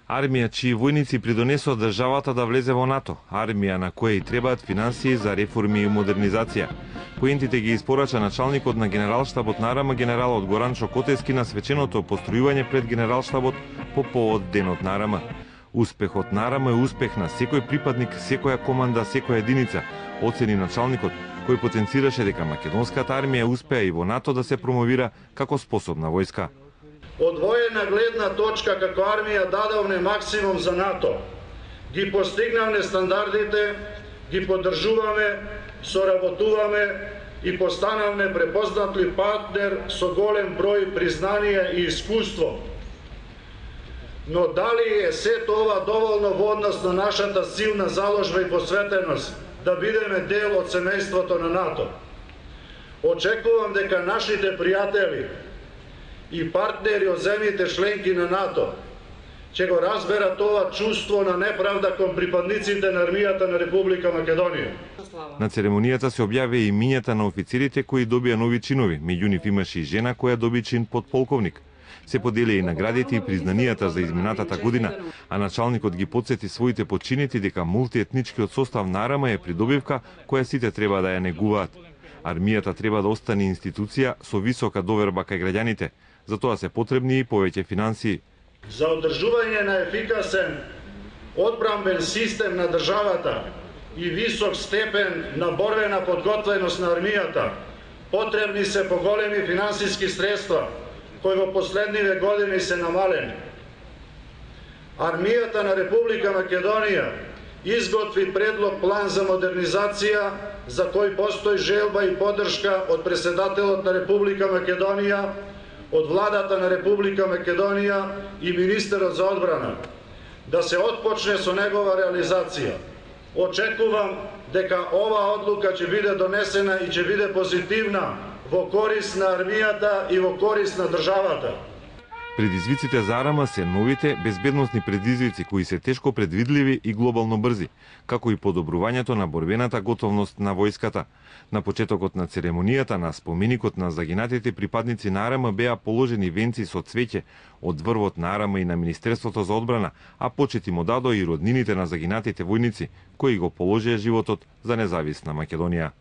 Армија чии војници придонесоа државата да влезе во НАТО, армија на која и требаат финансии за реформи и модернизација. Поентите ги испорача началникот на Генералштабот на АРМА генералот Горан Чокотевски на свеченото постројување пред Генералштабот по повод Денот на АРМА. Успехот на АРМА е успех на секој припадник, секоја команда, секоја единица, оцени началникот, кој потенцираше дека македонската армија успеа и во НАТО да се промовира како способна војска. Од воена гледна точка како армија дадовме максимум за НАТО. Ги постигнавме стандардите, ги поддржуваме, соработуваме и постанавме препознатли партнер со голем број признанија и искуство. Но дали е сето ова доволно во однос на нашата силна заложба и посветеност да бидеме дел од семејството на НАТО? Очекувам дека нашите пријатели и партнери од земјите членки на НАТО ќе го разберат ова чувство на неправда кон припадниците на армијата на Република Македонија. На церемонијата се објави и имињата на офицерите кои добија нови чинови, меѓу нив имаше и жена која доби чин подполковник. Се подели и наградите и признанијата за изминатата година, а началникот ги потсети своите подчинети дека мултиетничкиот состав на АРМА е придобивка која сите треба да ја негуваат. Армијата треба да остане институција со висока доверба кај граѓаните, затоа се потребни и повеќе финансии. За одржување на ефикасен одбранбен систем на државата и висок степен на борбена подготвеност на армијата потребни се поголеми финансиски средства кои во последниве години се намалени. Армијата на Република Македонија изготви предлог план за модернизација за кој постои желба и поддршка од председателот на Република Македонија, од владата на Република Македонија и министерот за одбрана, да се отпочне со негова реализација. Очекувам дека оваа одлука ќе биде донесена и ќе биде позитивна во корист на армијата и во корист на државата. Предизвиците за АРМА се новите безбедносни предизвици кои се тешко предвидливи и глобално брзи, како и подобрувањето на борбената готовност на војската. На почетокот на церемонијата на споменикот на загинатите припадници на АРМА беа положени венци со цвеќе од врвот на АРМА и на Министерството за одбрана, а почети му дадо и роднините на загинатите војници кои го положија животот за независна Македонија.